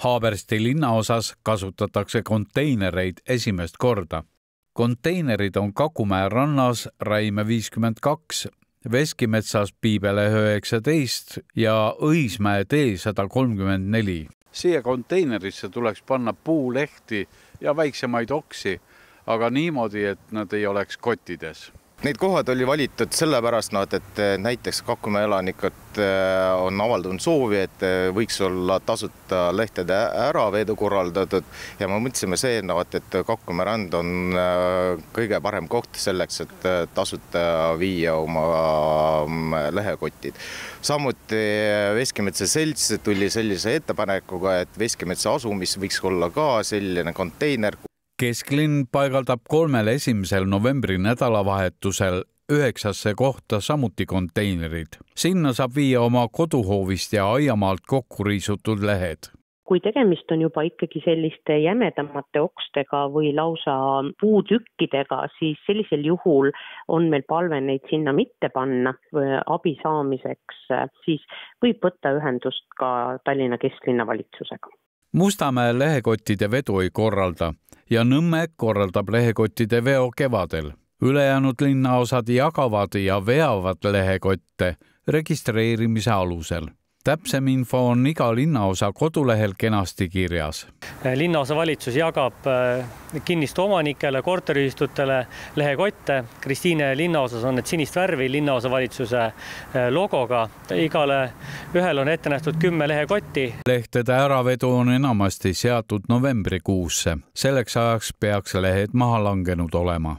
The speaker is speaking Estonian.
Haabersti linnaosas kasutatakse konteinereid esimest korda. Konteinerid on Kakumäe rannas Raime 52, Veskimetsas Piibele 19 ja Õismäe tee 134. Siia konteinerisse tuleks panna puulehti ja väiksemaid oksi, aga niimoodi, et nad ei oleks kottides. Need kohad oli valitud sellepärast, et näiteks Kakumäe elanikud on avaldanud soovi, et võiks olla tasuta lehtede äravedu korraldatud ja me mõtlesime see, et Kakumäe rand on kõige parem koht selleks, et tasuta viia oma lehekotid. Samuti Veskimetsa selts tuli sellise ettepanekuga, et Veskimetsa asumis võiks olla ka selline konteiner. Kesklinn paigaldab 3. 1. novembri nädalavahetusel 9 kohta samuti konteinerid. Sinna saab viia oma koduhoovist ja aiamaalt kokku riisutud lehed. Kui tegemist on juba ikkagi selliste jämedamate okstega või lausa puutükkidega, siis sellisel juhul on meil palve neid sinna mitte panna abi saamiseks, siis võib võtta ühendust ka Tallinna kesklinna valitsusega. Mustamäe lehekottide vedu ei korralda ja Nõmme korraldab lehekottide veo kevadel. Ülejäänud linnaosad jagavad ja veavad lehekotte registreerimise alusel. Täpsem info on iga linnaosa kodulehel kenasti kirjas. Linnaosa valitsus jagab kinnistu omanikele, korteriühistutele lehekotte. Kristiine linnaosas on need sinist värvi linnaosa valitsuse logoga. Igale ühel on ette nähtud 10 lehekotti. Lehtede äravedu on enamasti seatud novembrikuusse. Selleks ajaks peaks lehed maha langenud olema.